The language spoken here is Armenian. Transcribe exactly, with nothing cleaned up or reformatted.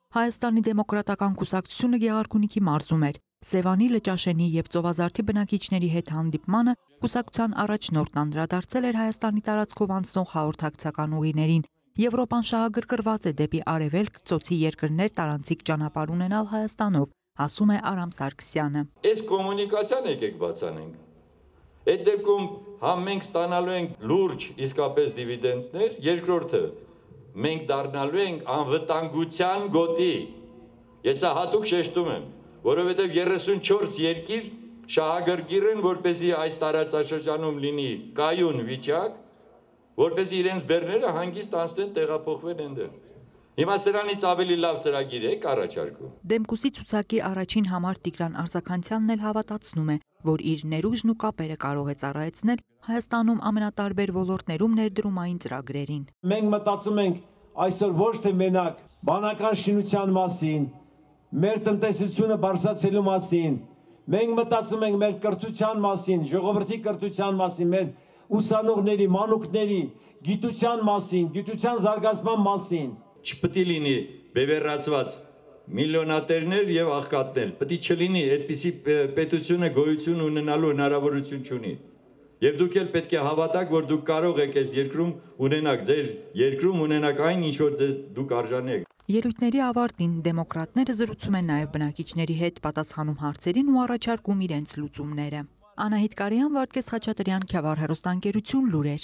Հայաստանի դեմոկրատական կուսակցությունը Գեղարքունիքի մարզում էր։ Սևանի, Լճաշենի եւ Ծովազարդի բնակիչների հետ հանդիպմանը կուսակցության առաջնորդն անդրադարձել էր Հայաստանի տարածքով անցնող հաղորդակցական ուղիներին։ Եվրոպան շահագրգռված է դեպի արևելք ծոցի երկրներ տարանցիկ ճանապարհ ունենալ Հայաստանով, ասում է Արամ Սարգսյանը։ Այս կոմունիկացիան եկեք բացանենք։ Այդ դեպքում համ մենք ստանալու ենք լուրջ իսկապես դիվիդենդներ, երկրորդը մենք դառնալու ենք անվտանգության գոտի։ Ես հատուկ շեշտում եմ, որովհետև երեսունչորս երկիր շահագրգիռ են, որպեսզի այս տարածաշրջանում լինի կայուն վիճակ, որպեսզի իրենց բեռները հանգիստ անցնեն տեղափոխվեն այնտեղ։ Հիմա սրանից ավելի լավ ծրագիր եք առաջարկում։ Դեմկուսի ցուցակի առաջին համար Տիգրան Արձաքանցյանն էլ հավատացնում է, որ իր ներուժն ու կապերը կարող է ծառայեցնել Հայաստանում ամենատարբեր ոլորտներում ներդրումային ծրագրերին։ Մենք մտածում ենք այսօր ոչ թե մենակ բանական շինության մասին, մեր տնտեսությունը բարձրացնելու մասին, մենք մտածում ենք մեր կրթության մասին, ժողովրդի կրթության մասին, մեր ուսանողների, մանուկների գիտության մասին, գիտության զարգացման մասին։ Չպետք է լինի բևեռացված միլիոնատերներ եւ աղքատներ, պետք չլինի այդպիսի պետությունը գոյություն ունենալու հնարավորություն չունի։ Եվ դուք էլ պետք է հավատաք, որ դուք կարող եք այս երկրում ունենաք, ձեր երկրում ունենաք այն, ինչ որ դուք արժանի եք։ Ելույթների ավարտին դեմոկրատները զրուցում են նաև բնակիչների հետ, պատասխանում հարցերին ու առաջարկում իրենց լուծումները։ Անահիտ Կարյան, Վարդգես Խաչատրյան, Քյավառ հեռուստաընկերություն, լուրեր։